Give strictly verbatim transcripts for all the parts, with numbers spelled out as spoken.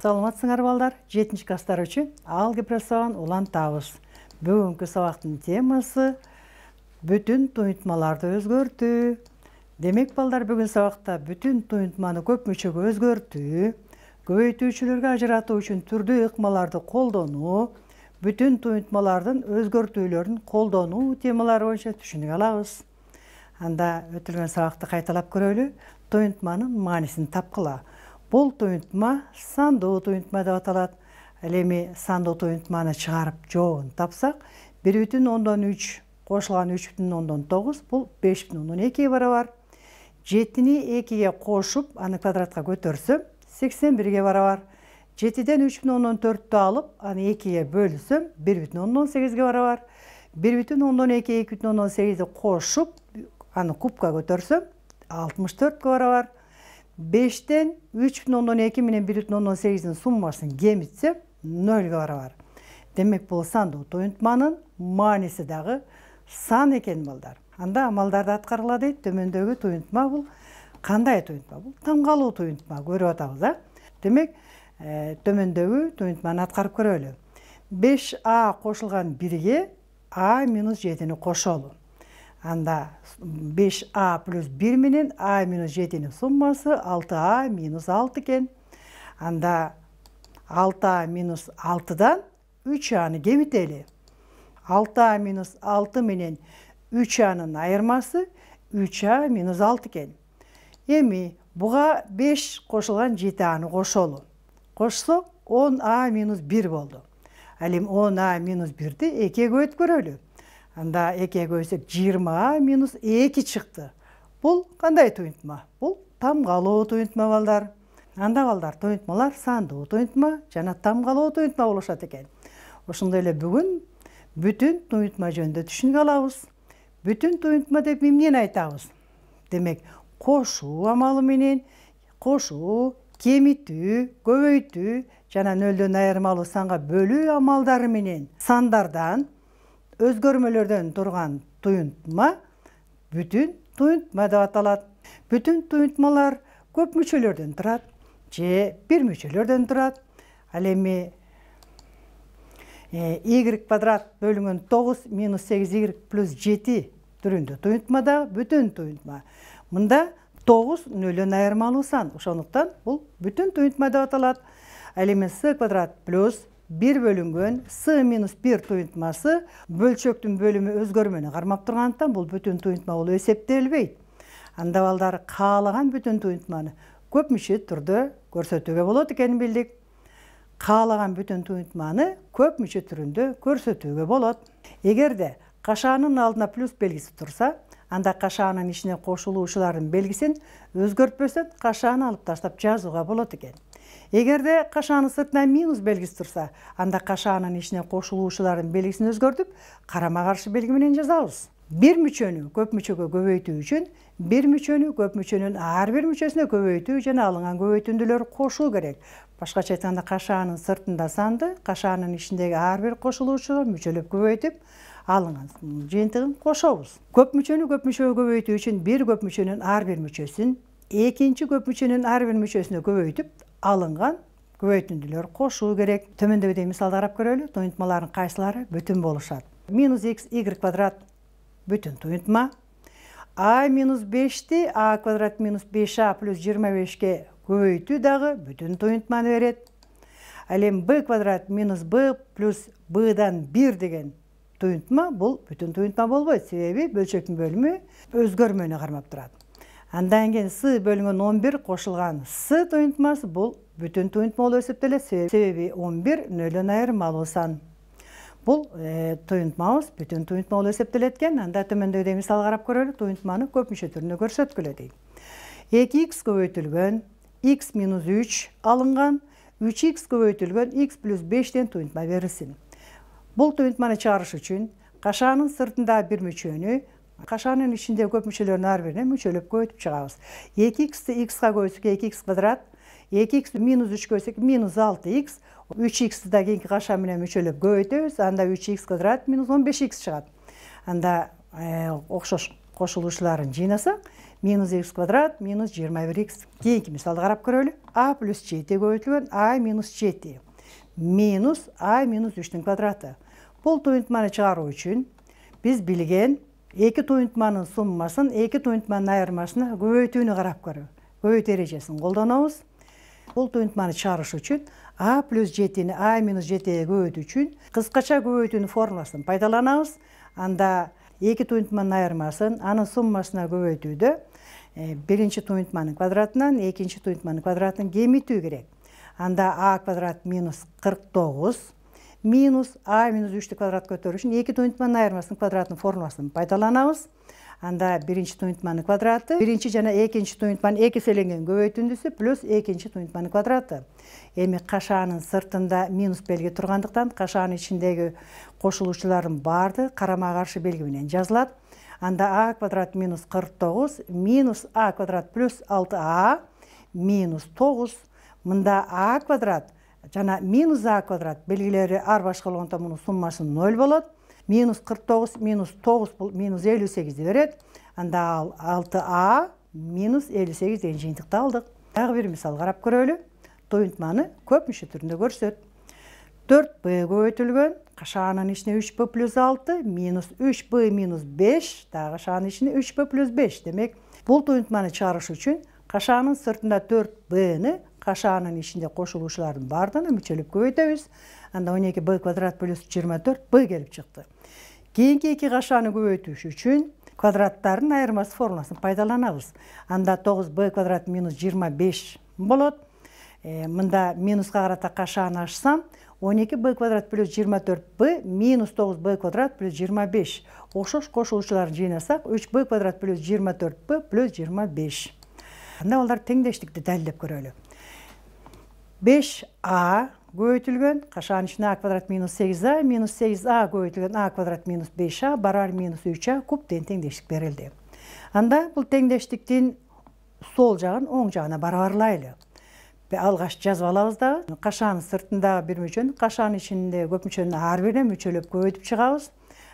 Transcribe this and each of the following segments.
Саламатсыңар балдар, жетинчи класстар үчүн алгебра сабагын улантабыз. Бүгүнкү сабактын темасы бүтүн туюнтмаларды өзгөртүү. Демек балдар, бүгүн сабакта бүтүн туюнтманы көп мүчөгө өзгөртүү, көбөйтүүчүлөргө ажыратуу үчүн түрдүү ыкмаларды колдонуу, бүтүн туюнтмалардын өзгөртүүлөрүн колдонуу темалары боюнча түшүнүк алабыз. Анда өтүлгөн сабакты кайталап көрөлү. Туюнтманын маанисин тапкыла. Бул туюнтма сандуу туюнтма деп аталат. Ал эми сандуу туюнтманы чыгарып жообун тапсак, бир бүтүн ондон үч кошулган үч бүтүн ондон тогуз бул беш бүтүн ондон экиге барабар. жетини экиге кошуп, аны квадратка көтөрсөм, сексен бирге барабар. жетиден үч бүтүн ондон төрттү алып, аны экиге бөлсөм, бир бүтүн ондон сегизге барабар. бир бүтүн ондон эки, эки бүтүн ондон сегизди кошуп, аны кубка көтөрсөм, алтымыш төрткө барабар. бештен үч бүтүн ондон эки менен бир бүтүн ондон сегиздин суммасын кемитсем, нөлгө барабар. Демек, бул сандуу туюнтманын мааниси дагы сан экен балдар. Анда амалдарды аткаргыла дейт. Төмөндөгү туюнтма бул кандай туюнтма? Бул тамгалуу туюнтма көрүп атабыз, а? Демек, төмөндөгү туюнтманы аткарып көрөлү. беш а кошулган бирге а минус жетини кошолу. Анда беш а плюс бир менен а минус жетинин суммасы алты а минус алты экен. Анда алты а минус алтыдан үч аны кемители. алты а минус алты менен үч анын айырмасы үч а минус алты экен. Эми буга беш кошулган жети аны кошолу. Кошсок он а минус бир болду. Ал эми он а минус бирди экиге көбөйтүп көрөлү. Анда экиге көбөйтсөк жыйырма а минус эки чыкты. Бул кандай туюнтма? Бул тамгалуу туюнтма балдар. Анда балдар, туюнтмалар сандуу туюнтма жана тамгалуу туюнтма болушат экен. Ошондой эле бүгүн бүтүн туюнтма жөнүндө түшүнүк алабыз. Бүтүн туюнтма деп эмнени айтабыз? Демек, кошуу амалы менен, кошуу, кемитүү, көбөйтүү жана нөлдөн айырмалуу санга бөлүү амалдары менен сандардан, өзгөрмөлөрдөн турган туюнтма бүтүн туюнтма деп аталат. Бүтүн туюнтмалар көп мүчөлөрдөн турат же бир мүчөлөрдөн турат. Ал эми y квадрат бөлүнгөн тогуз минус сегиз y плюс жети түрүндө туюнтма да бүтүн туюнтма. Мында тогуз нөлдөн айырмалуу сан. Ошондуктан бул бүтүн туюнтма деп аталат. Ал эми с квадрат плюс бир бөлүнгөн с минус бир туюнтмасы бөлчөктүн бөлүмү өзгөрмөнү кармап тургандыктан бул бүтүн туюнтма болуп эсептелбейт. Анда балдар, каалаган бүтүн туюнтманы көп мүчө түрдө көрсөтүүгө болот экенин билдик. Каалаган бүтүн туюнтманы көп мүчө түрүндө көрсөтүүгө болот. Эгерде кашаанын алдына плюс белгиси турса, анда кашаанын ичине кошулуучулардын белгисин өзгөртпөсөм, кашааны алып таштап жазууга болот экен. Эгерде кашаанын сыртына минус белгиси турса, анда кашаанын ичине кошулуучулардын белгисин өзгөртүп, карама каршы белги менен жазабыз. Бир мүчөнү көп мүчөгө көбөйтүү үчүн бир мүчөнү көп мүчөнүн ар бир мүчөсүнө көбөйтүү жана алынган көбөйтүндүлөр кошуу керек. Башкача айтканда, кашаанын сыртында санды кашаанын ичиндеги ар бир кошулуучуга мүчөлөп көбөйтүп, алынган жыйынтыгын кошобуз. Көп мүчөнү көп мүчөгө көбөйтүү үчүн бир көп мүчөнүн ар бир мүчөсүн экинчи көп мүчөнүн ар бир мүчөсүнө көбөйтүп, алынган көбөйтүндүлөр кошуу керек. Төмөндөгүдөй мисалды карап көрөлү. Туюнтмалардын кайсылары бүтүн болушат? Минус x y квадрат бүтүн туюнтма. А минус бешти а квадрат минус беш а плюс жыйырма бешке көбөйтүү дагы бүтүн туюнтманы берет. Ал эми b квадрат минус b плюс b'дан бир деген туюнтма бул бүтүн туюнтма болбойт. Себеби бөлчөктүн бөлүмү өзгөрмөнү кармап турат. Андан кийин с бөлүнгөн он бир кошулган с туюнтмасы бул бүтүн туюнтма болуп эсептелет. Себеби он бир нөлдөн айырмалуу сан. Бул туюнтмабыз бүтүн туюнтма болуп эсептелет экен. Анда төмөндөгүдөй мисал карап көрөлү. Туюнтманы көп мүчө түрүндө көрсөткүлө дейт. эки икс көбөйтүлгөн x минус үч алынган, үч икс көбөйтүлгөн x плюс бештен туюнтма берилсин. Бул туюнтманы чыгарыш үчүн кашаанын сыртында бир мүчөнү, кашаанын ичинде көп мүчөлөрдүн ар бирине мүчөлөп көбөйтүп чыгабыз. эки иксти xга көбөйтсөк эки икс квадрат, эки икс минус үч көбөйтсөк минус алты икс, үч иксти да кийинки кашаа менен мүчөлөп көбөйтөбүз. Анда үч икс квадрат минус он беш икс чыгат. Анда окшош кошулуучуларын жыйнасак, минус x квадрат минус жыйырма бир икс. Кийинки мисалды карап көрөлү. А плюс жети көбөйтүлгөн а минус жети минус а минус үчтүн квадраты. Бул туюнтманы чыгаруу үчүн биз билген эки туюнтманын суммасын эки туюнтманын айырмасына көбөйтүүнү карап көрүү. Көбөйтүү эрежесин колдонобуз. Бул туюнтманы чыгарыш үчүн а плюс жетини а минус жетиге көбөйтүү үчүн кыскача көбөйтүүнүн формуласын пайдаланабыз. Анда эки туюнтманын айырмасын анын суммасына көбөйтүүдө биринчи туюнтманын квадратынан экинчи туюнтманын квадратын кемитүү керек. Анда а квадрат минус кырк тогуз минус а минус үчтү квадрат көтөрүү үчүн эки туюнтманын айырмасынын квадратынын формуласын пайдаланабыз. Анда биринчи туюнтманын квадраты биринчи жана экинчи туюнтманын эки эселенген көбөйтүндүсү плюс экинчи туюнтманын квадраты. Эми кашаанын сыртында минус белги тургандыктан кашаанын ичиндеги кошулуучулардын баардыгы карама каршы белги менен жазылат. Анда а квадрат минус кырк тогуз минус а квадрат плюс алты а минус тогуз. Мында а квадрат жана минус а квадрат белгилери ар башка болгондон мунун суммасы ноль болот. Минус кырк тогуз минус тогуз бул минус элүү сегизди берет. Анда ал алты а минус элүү сегиз деген жыйынтыкты алдык. Дагы бир мисал карап көрөлү. Туюнтманы көп мүчө түрүндө көрсөт. төрт б көбөйтүлгөн кашаанын ичине үч б плюс алты минус үч б минус беш, дагы кашаанын ичине үч б плюс беш. Демек, бул туюнтманы чыгарыш үчүн кашаанын сыртында төрт бны кашаанын ичинде кошулуучулардын баардыгына мүчөлөп көбөйтөбүз. Анда он эки б квадрат плюс жыйырма төрт б келип чыкты. Кийинки эки кашааны көбөйтүш үчүн квадраттардын айырмасы формуласын пайдаланабыз. Анда тогуз б квадрат минус жыйырма беш болот. Мында минуска карата кашааны ачсам, он эки б квадрат плюс жыйырма төрт б минус тогуз б квадрат плюс жыйырма беш. Окшош кошулуучуларын жыйнасак, үч б квадрат плюс жыйырма төрт б плюс жыйырма беш. Анда алар теңдештикти далилдеп көрөлү. беш а көбөйтүлгөн кашаанын ичине а квадрат минус сегиз а минус сегиз а көбөйтүлгөн а квадрат минус беш а барабар минус үч а куб деген теңдештик берилди. Анда бул теңдештиктин сол жагын оң жагына барабарлайлы. Алгач жазып алабыз дагы. Кашаанын сыртындагы бир мүчөнү кашаанын ичинде көп мүчөнүн ар бирине мүчөлөп көбөйтүп чыгабыз.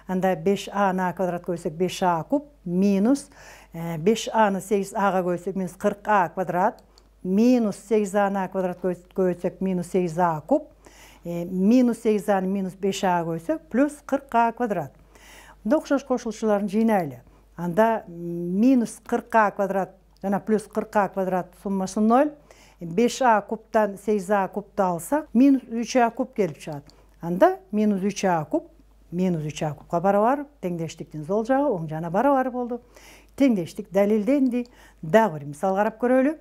Анда беш аны а квадрат көбөйсөк беш а куб минус беш аны сегиз ага көбөйсөк минус кырк а квадрат минус сегиз аны а квадрат көбөйтсөк минус сегиз а куб минус сегиз аны минус беш а көбөйсөк плюс кырк а квадрат. Мында окшош кошулуучуларын жыйнайлы. Анда минус кырк а квадрат жана плюс кырк а квадрат суммасы ноль. беш а кубтан сегиз а кубту алсак, минус үч а куб келип чыгат. Анда минус үч а куб минус үч а кубка барабар, теңдештиктин сол жагы оң жагына барабар болду. Теңдештик далилденди. Дагы бир мисал карап көрөлү.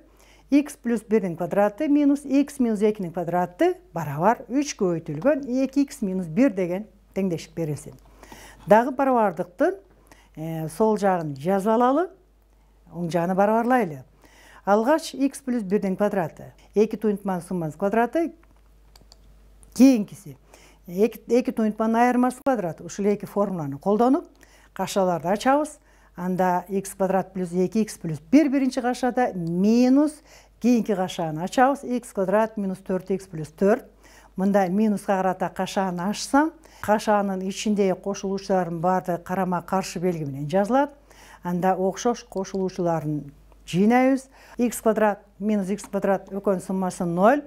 X плюс бирдин квадраты минус x минус экинин квадраты барабар үч көбөйтүлгөн эки икс минус бир деген теңдештик берилсин. Дагы барабардыктын сол жагын жазып алалы, оң жагына барабарлайлы. Алгач x плюс бирдин квадраты, эки туюнтманын суммасынын квадраты, кийинкиси эки туюнтманын айырмасы квадраты. Ушул эки формуланы колдонуп, кашаларды ачабыз. Анда x квадрат плюс эки икс плюс бир биринчи кашада минус кийинки кашааны ачабыз. X квадрат минус төрт икс плюс төрт. Мында минуска карата кашааны ачсам, кашаанын ичиндеги кошулуучулардын баардыгы карама каршы белги менен жазылат. Анда окшош кошулуучуларын жыйнайбыз. X квадрат минус x квадрат экөөнүн суммасы ноль.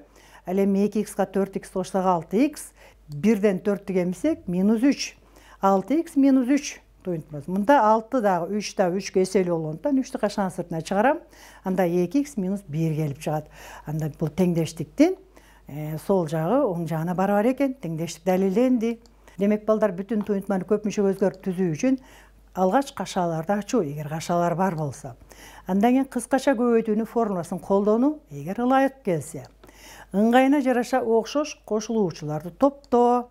Ал эми эки икска төрт икс кошсок алты икс. бирден төрттү кемисек минус үч. алты икс минус үч туюнтмасы. Мында алты дагы үч да үчкө эселүү болгондуктан үчтү кашаанын сыртына чыгарам. Анда эки икс минус бир келип чыгат. Анда бул теңдештиктин сол жагы оң жагына барабар экен. Теңдештик далилденди. Демек балдар, бүтүн туюнтманы көп мүчөгө өзгөртүп түзүү үчүн алгач кашаларды ачуу, эгер кашалар бар болсо. Андан кийин кыскача көбөйтүүнүн формуласын колдонуу, эгер ылайык келсе. Ыңгайына жараша окшош кошулуучуларды топтоо.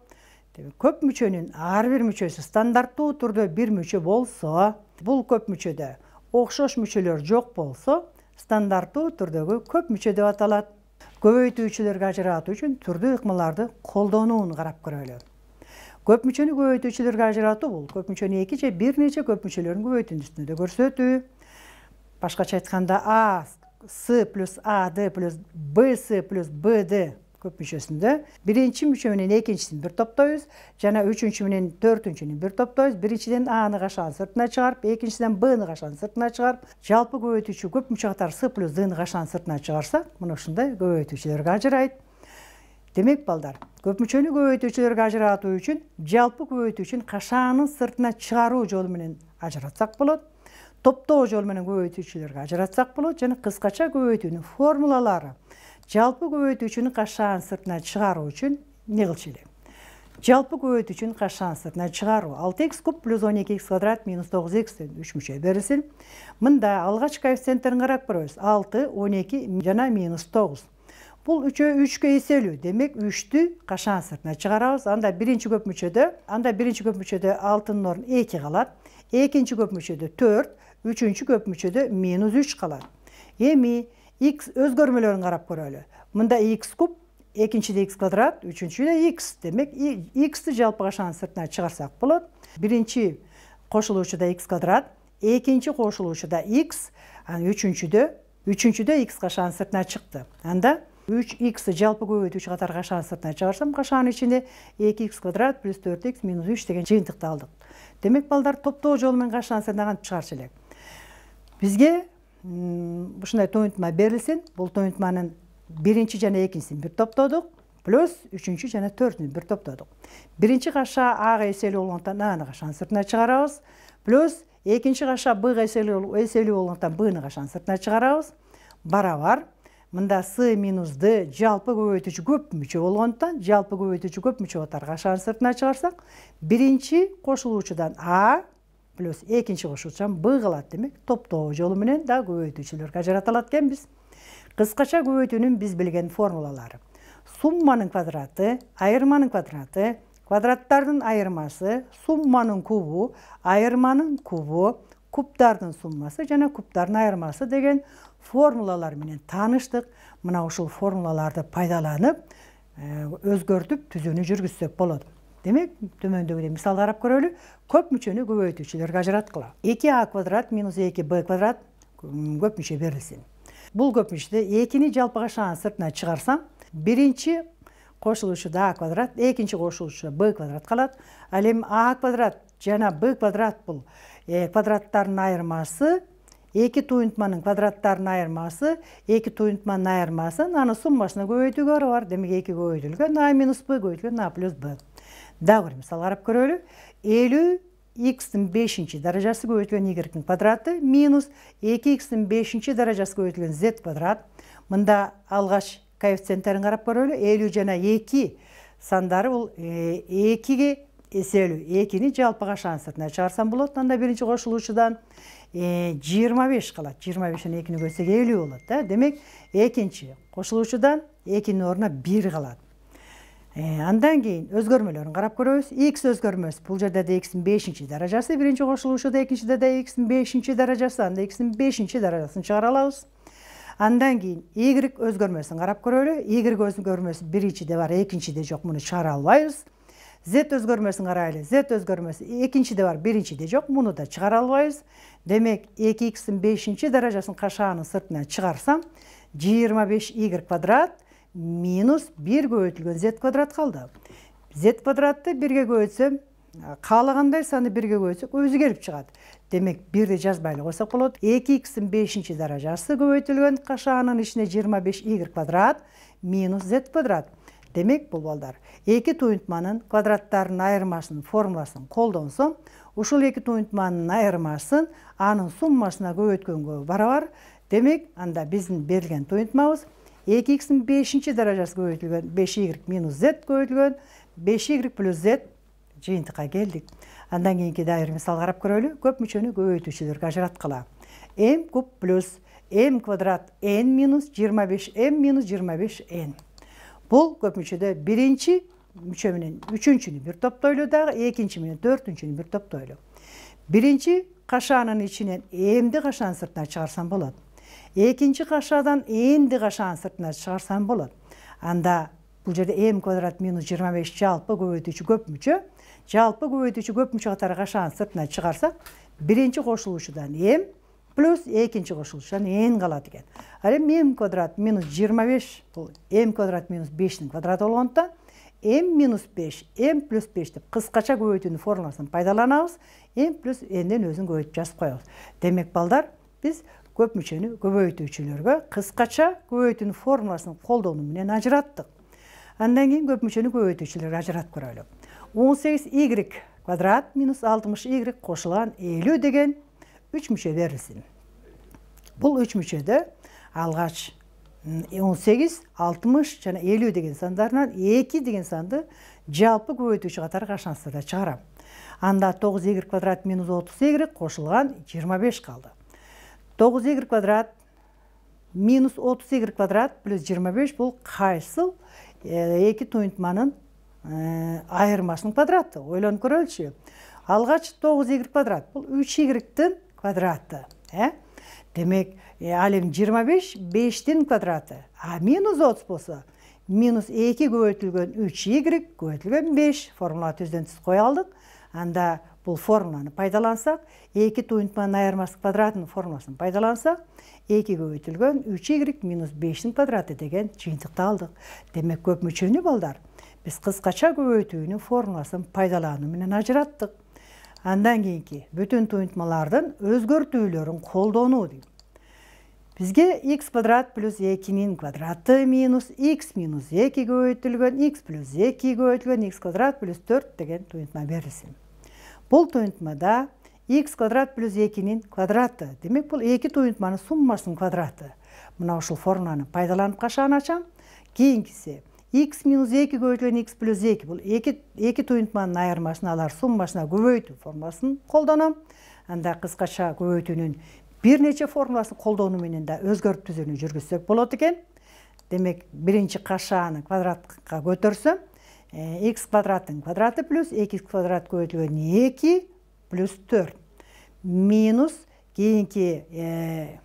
Көп мүчөнүн ар бир мүчөсү стандарттуу түрдө бир мүчө болсо, бул көп мүчөдө окшош мүчөлөр жок болсо, стандарттуу түрдөгү көп мүчө деп аталат. Көбөйтүүчүлөргө ажыратуу үчүн түрдүү ыкмаларды колдонууну карап көрөлү. Көп мүчөнү көбөйтүүчүлөргө ажыратуу бул көп мүчөнү эки же бир нече көп мүчөлөрүн көбөйтүүнү көрсөтүү. Башкача айтканда А С плюс А Д плюс Б С плюс Б Д көп мүчөсүндө биринчи мүчө менен экинчисин бир топтойбуз жана үчүнчү менен төртүнчүнү бир топтойбуз. Биринчиден Аны кашаанын сыртына чыгарып, экинчиден Бны кашаанын сыртына чыгарып, жалпы көбөйтүүчү көп мүчө катары С плюс Дны кашаанын сыртына чыгарсак, мына ушундай көбөйтүүчүлөргө ажырайт. Демек балдар, көп мүчөнү көбөйтүүчүлөргө ажыратуу үчүн жалпы көбөйтүүчүнүн кашаанын сыртына чыгаруу жолу менен ажыратсак болот. Топтоо жолу менен көбөйтүүчүлөргө ажыратсак болот жана кыскача көбөйтүүнүн формулалары. Жалпы көбөйтүүчүнүн кашаанын сыртына чыгаруу үчүн эмне кылчу эле? Жалпы көбөйтүүчүнүн кашаанын сыртына чыгаруу алты икс куб плюс он эки икс квадрат минус тогуз икстен үч мүчө берилсин. Мында алгач коэффициенттерин карап көрөбүз. алты, он эки жана минус тогуз. Бул үчөө үчкө эселүү. Демек үчтү кашаанын сыртына чыгарабыз. Анда биринчи көп мүчөдө, анда биринчи көп мүчөдө алтынын ордуна эки калат. Экинчи көп мүчөдө төрт, үчүнчү көп мүчөдө минус үч калат. Эми x өзгөрмөлөрүн карап көрөлү. Мында x куб, экинчиде x квадрат, үчүнчүдө x. Демек x'ти жалпы кашаанын сыртына чыгарсак болот. Биринчи кошулуучуда x квадрат, экинчи кошулуучуда x, анан үчүнчүдө, үчүнчүдө x кашаанын сыртына чыкты. Анда үч иксти жалпы көбөйтүүчү катары кашаанын сыртына чыгарсам, кашаанын ичинде эки икс квадрат плюс төрт икс минус үч деген жыйынтыкты алдык. Демек балдар, топтоо жолу менен кашаанын сыртына кантип чыгарчу элек? Бизге ушундай туюнтма берилсин. Бул туюнтманын биринчи жана экинчисин бир топтодук, плюс үчүнчү жана төртүнү бир топтодук. Биринчи кашаа Ага эселүү болгондон Аны кашаанын сыртына чыгарабыз, плюс экинчи кашаа Бга эселүү болгондон Бны кашаанын сыртына чыгарабыз. Барабар. Мында С минус Д жалпы көбөйтүүчү көп мүчө болгондон, жалпы көбөйтүүчү көп мүчө катары кашаанын сыртына чыгарсак, биринчи кошулуучудан А плюс экинчи кошулуучудан Б калат. Демек топтоо жолу менен да көбөйтүүчүлөргө ажырата алат экенбиз. Кыскача көбөйтүүнүн биз билген формулалары. Сумманын квадраты, айырманын квадраты, квадраттардын айырмасы, сумманын кубу, айырманын кубу, кубдардын суммасы жана кубдардын айырмасы деген формулалар менен тааныштык. Мына ушул формулаларды пайдаланып, өзгөртүп түзүүнү жүргүзсөк болот. Демек, төмөндөгүдөй мисал карап көрөлү. Көп мүчөнү көбөйтүүчүлөргө ажыраткыла. эки а квадрат минус эки б квадрат көп мүчө берилсин. Бул көп мүчөдө экини жалпы кашаанын сыртына чыгарсам, биринчи кошулуучуда А квадрат, экинчи кошулуучуда Б квадрат калат. Ал эми А квадрат жана Б квадрат бул квадраттардын айырмасы, эки туюнтманын квадраттарынын айырмасы, эки туюнтманын айырмасы, анын суммасына көбөйтүүгө барабар. Демек эки көбөйтүлгөн А минус Б көбөйтүлгөн А плюс Б. Дагы бир мисал карап көрөлү. элүү икстин бешинчи даражасы көбөйтүлгөн Y-ның квадраты минус эки икстин бешинчи даражасы көбөйтүлгөн Z квадрат. Мында алгач коэффициенттерин карап көрөлү. элүү жана эки сандары бул экиге эселүү. экини жалпы кашаанын сыртына чыгарсам болот. Анда биринчи кошулуучудан жыйырма беш калат. жыйырма бештен экини бөлсөк элүү болот да. Демек экинчи кошулуучудан экинин ордуна бир калат. Андан кийин өзгөрмөлөрүн карап көрөбүз. X өзгөрмөсү. Бул жерде да X'ин бешинчи даражасы, биринчи кошулуучуда, экинчиде да X'ин бешинчи даражасы, анда X'ин бешинчи даражасын чыгара алабыз. Андан кийин Y өзгөрмөсүн карап көрөлү. Y өзгөрмөсү биринчиде бар, экинчиде жок, муну чыгара албайбыз. Z өзгөрмөсүн карайлы. Z өзгөрмөсү экинчиде бар, биринчиде жок, муну да чыгара албайбыз. Демек эки икстин бешинчи даражасын кашаанын сыртына чыгарсам, жыйырма беш Y квадрат минус бир көбөйтүлгөн Z квадрат калды. Z квадратты бирге көбөйтсөм, каалагандай саны бирге көбөйтсөк өзү келип чыгат. Демек бирди жазбай эле койсок болот. эки икстин бешинчи даражасы көбөйтүлгөн кашаанын ичине жыйырма беш Y квадрат минус Z квадрат. Демек бул балдар эки туюнтманын квадраттарынын айырмасынын формуласын колдонсом, ушул эки туюнтманын айырмасын анын суммасына көбөйткөнгө барабар. Демек анда биздин берилген туюнтмабыз эки икстин бешинчи даражасы көбөйтүлгөн беш Y минус Z көбөйтүлгөн беш Y плюс Z жыйынтыкка келдик. Андан кийинки дагы бир мисал карап көрөлү. Көп мүчөнү көбөйтүүчүлөргө ажыраткыла. M куб плюс M квадрат N минус жыйырма беш M минус жыйырма беш N. Бул көп мүчөдө биринчи мүчө менен үчүнчүнү бир топтойлу, дагы экинчи менен төртүнчүнү бир топтойлу. Биринчи кашаанын ичинен M'ди кашаанын сыртына чыгарсам болот. Экинчи кашаадан N'ди кашаанын сыртына чыгарсам болот. Анда бул жерде M квадрат минус жыйырма беш жалпы көбөйтүүчү көп мүчө. Жалпы көбөйтүүчү көп мүчө катары кашаанын сыртына чыгарсак, биринчи кошулуучудан M плюс экинчи кошулушан n калат экен. Ал эми m квадрат минус жыйырма беш бул m квадрат минус бештин квадраты болгондуктан m минус беш m плюс беш деп кыскача көбөйтүүнүн формуласын пайдаланабыз. m плюс n'ден өзүн көбөйтүп жазып коебуз. Демек балдар, биз көп мүчөнү көбөйтүүчүлөргө кыскача көбөйтүүнүн формуласын колдонуу менен ажыраттык. Андан кийин көп мүчөнү көбөйтүүчүлөргө ажыратып көрөлү. он сегиз y квадрат минус алтымыш y кошулган элүү деген үч мүчө берилсин. Бул үч мүчөдө алгач он сегиз, алтымыш жана элүү деген сандарынан эки деген санды жалпы көбөйтүүчү катары кашансырда чыгарам. Анда тогуз y квадрат минус отуз y кошулган жыйырма беш калды. тогуз y квадрат минус отуз y квадрат плюс жыйырма беш бул кайсыл эки туюнтманын айырмасынын квадраты? Ойлонуп көрөлүчү. Алгач тогуз y квадрат бул үч y'тин квадраты. Демек, ал эми жыйырма беш бештин квадраты. А минус отуз болсо, минус эки көбөйтүлгөн үч y көбөйтүлгөн беш формула түздөн түз кое алдык. Анда бул формуланы пайдалансак, эки туюнтманын айырмасы квадратынын формуласын пайдалансак, эки көбөйтүлгөн үч y минус бештин квадраты деген жыйынтыкты алдык. Демек, көп мүчөнү балдар биз кыскача көбөйтүүнүн формуласын пайдалануу менен ажыраттык. Андан кийинки бүтүн туюнтмалардын өзгөртүүлөрүн колдонуу дейм. Бизге x квадрат плюс экинин квадраты минус x минус эки көбөйтүлгөн x плюс эки көбөйтүлгөн x квадрат плюс төрт деген туюнтма берилсин. Бул туюнтмада x квадрат плюс экинин квадраты. Демек, бул эки туюнтманын суммасынын квадраты. Мына ушул формуланы пайдаланып кашаан ачам. Кийинкиси x минус эки көбөйтүлгөн x плюс эки бул эки эки туюнтманын айырмасын алар суммасына көбөйтүү формуласын колдоном. Анда кыскача көбөйтүүнүн бир нече формуласын колдонуу менен да өзгөртүү түзүүнү жүргүзсөк болот экен. Демек, биринчи кашааны квадратка көтөрсөм, x квадраттын квадраты плюс эки квадрат көбөйтүлгөн эки плюс төрт минус кийинки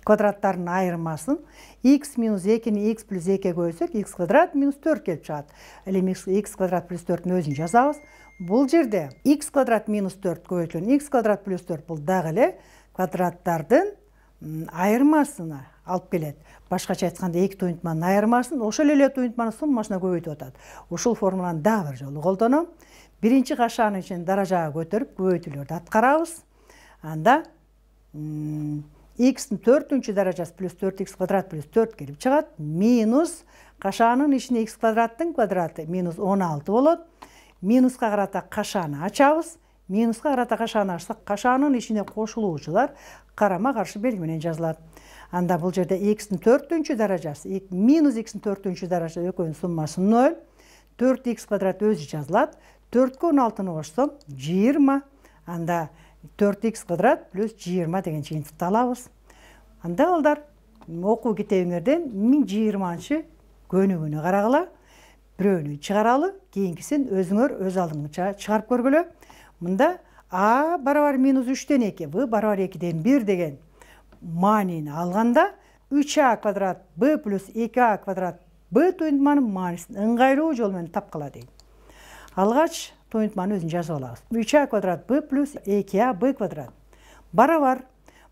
квадраттардын айырмасын x минус экини x плюс эки көбөйтсөк, x квадрат минус төрт келип чыгат. Ал эми x квадрат плюс төрттүн өзүн жазабыз. Бул жерде x квадрат минус төрт көбөйтүлгөн x квадрат плюс төрт бул дагы эле квадраттардын айырмасына алып келет. Башкача айтканда эки туюнтманын айырмасын ошол эле туюнтманын суммасына көбөйтүп атат. Ушул формуланы дагы бир жолу колдоном. Биринчи кашаанын ичин даражага көтөрүп көбөйтүүлөрдү аткарабыз. Анда x'тин төртүнчү даражасы плюс төрт x квадрат плюс төрт келип чыгат. Минус кашаанын ичине x квадраттын квадраты минус он алты болот. Минуска карата кашааны ачабыз. Минуска карата кашааны ачсак, кашаанын ичине кошулуучулар карама каршы белги менен жазылат. Анда бул жерде x'тин төртүнчү даражасы минус x'тин төртүнчү даражасы экөөнүн суммасы ноль. төрт x квадрат өзү жазылат. төрткө он алтыны кошсом жыйырма. Анда төрт x квадрат плюс жыйырма деген жыйынтыкты алабыз. Анда балдар, окуу китебиңерден миң жыйырманчы көнүгүүнү карагыла, бирөөнү чыгаралы, кийинкисин өзүңөр өз алдыңызча чыгарып көргүлө. Мында a барабар минус үчтөн эки, b барабар экиден бир деген маанини алганда үч а квадрат b плюс эки а квадрат b туюнтманын маанисин ыңгайлуу жол менен тапкыла дейм. Алгач туюнтманы өзүн жазып алабыз. үч а квадрат b плюс эки а b квадрат барабар.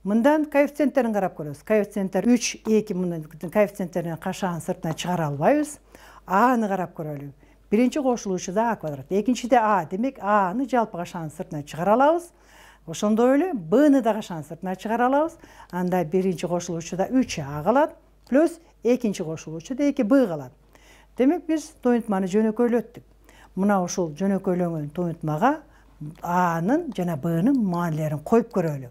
Мындан коэффициенттерин карап көрөбүз. Коэффициенттер үч, эки мындан коэффициенттерин кашаанын сыртына чыгара албайбыз. Аны карап көрөлү. Биринчи кошулуучуда а квадрат, экинчиде а, демек аны жалпы кашаанын сыртына чыгара алабыз. Ошондой эле бны да кашаанын сыртына чыгара алабыз. Анда биринчи кошулуучуда үч а калат, плюс экинчи кошулуучуда эки б калат. Демек биз туюнтманы жөнөкөйлөттүк. Мына ушул жөнөкөйлөнгөн туюнтмага a'нын жана b'нын маанилерин коюп көрөлү.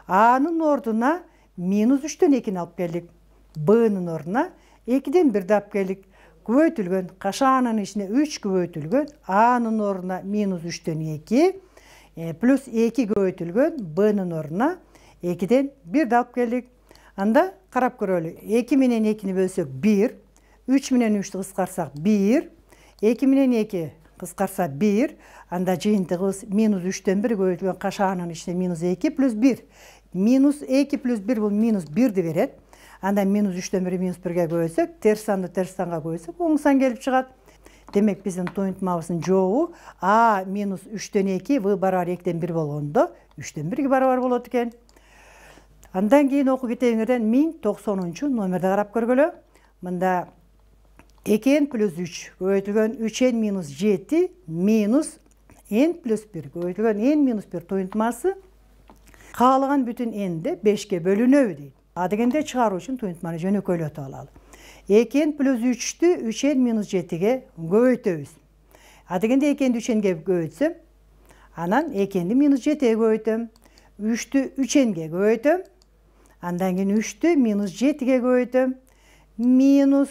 A'нын ордуна минус үчтөн экини алып келдик. B'нын ордуна экиден бирди алып келдик. Көбөйтүлгөн кашаанын ичине үч көбөйтүлгөн a'нын ордуна минус үчтөн эки плюс эки көбөйтүлгөн b'нын ордуна экиден бирди алып келдик. Анда карап көрөлү. эки менен экини бөлсөк бир, үч менен үчтү кыскартсак бир, эки менен эки кыскарса бир, анда жыйынтыгыбыз минус үчтөн бир көбөйтүлгөн кашаанын ичине минус эки плюс бир. Минус эки плюс бир бул минус бирди берет. Анда минус үчтөн бир минус бирге көбөйтсөк, терс санды терс санга көбөйтсөк, оң сан келип чыгат. Демек биздин туюнтмабыздын жообу а минус үчтөн эки, в барабар экиден бир болгондо үчтөн бирге барабар болот экен. Андан кийин окуу китебиңерден миң токсонунчу номерди карап көргөлө. Мында эки н плюс үч көбөйтүлгөн үч н минус жети минус n плюс бир көбөйтүлгөн n минус бир туюнтмасы каалаган бүтүн n'де бешке бөлүнөбү дейт. А дегенде чыгаруу үчүн туюнтманы жөнөкөйлөтүп алалы. эки н плюс үчтү үч н минус жетиге көбөйтөбүз. А дегенде эки нди үч нге көбөйтсөм, анан эки нди минус жетиге көбөйтөм. үчтү үч нге көбөйтөм. Андан кийин үчтү минус жетиге көбөйтөм. Минус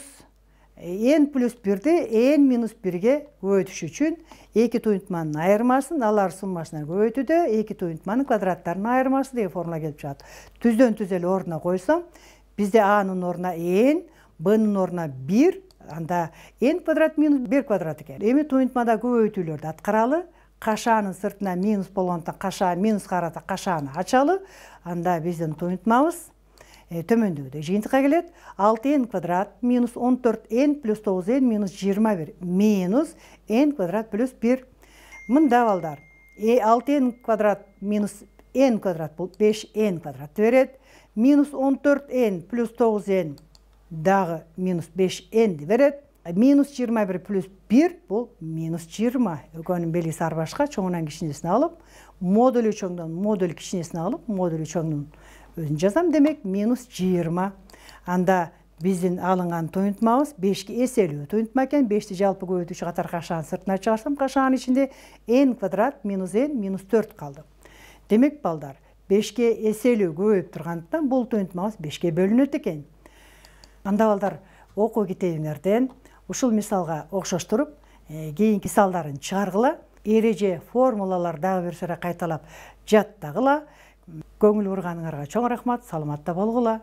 n плюс бирди n минус бирге көбөйтүш үчүн эки туюнтманын айырмасын алар суммасына көбөйтүүдө эки туюнтманын квадраттарынын айырмасы деген формула келип чыгат. Түздөн түз эле ордуна койсом, бизде a'нын ордуна n, b'нын ордуна бир, анда n квадрат минус бир квадрат экен. Эми туюнтмада көбөйтүүлөрдү аткаралы. Кашаанын сыртына минус болгондуктан кашаа минус карата кашааны ачалы. Анда биздин туюнтмабыз төмөндөгүдөй жыйынтыкка келет. алты н квадрат минус он төрт н плюс тогуз н минус жыйырма бир минус n квадрат плюс бир. Мында балдар алты н квадрат минус n квадрат бул беш н квадратты берет. Минус он төрт н плюс тогуз н дагы минус беш нди берет. Минус жыйырма бир плюс бир бул минус жыйырма. Экөөнүн белгиси ар башка, чоңунан кичинесине алып, модуль чоңдон модуль кичинесине алып, модуль чоңдун өзүн жазам, демек минус жыйырма. Анда биздин алынган туюнтмабыз бешке эселүү туюнтма экен. бешти жалпы көбөйтүүчү катары кашаанын сыртына чыгарсам, кашаанын ичинде n квадрат минус n минус төрт калды. Демек балдар, бешке эселүү көбөйүп тургандыктан бул туюнтмабыз бешке бөлүнөт экен. Анда балдар, окуу китебиңерден ушул мисалга окшоштуруп, кийинки мисалдарын чыгаргыла, эреже, формулалар дагы бир сыйра кайталап жаттагыла. Көңүл бурганыңарга чоң рахмат, саламатта болгула.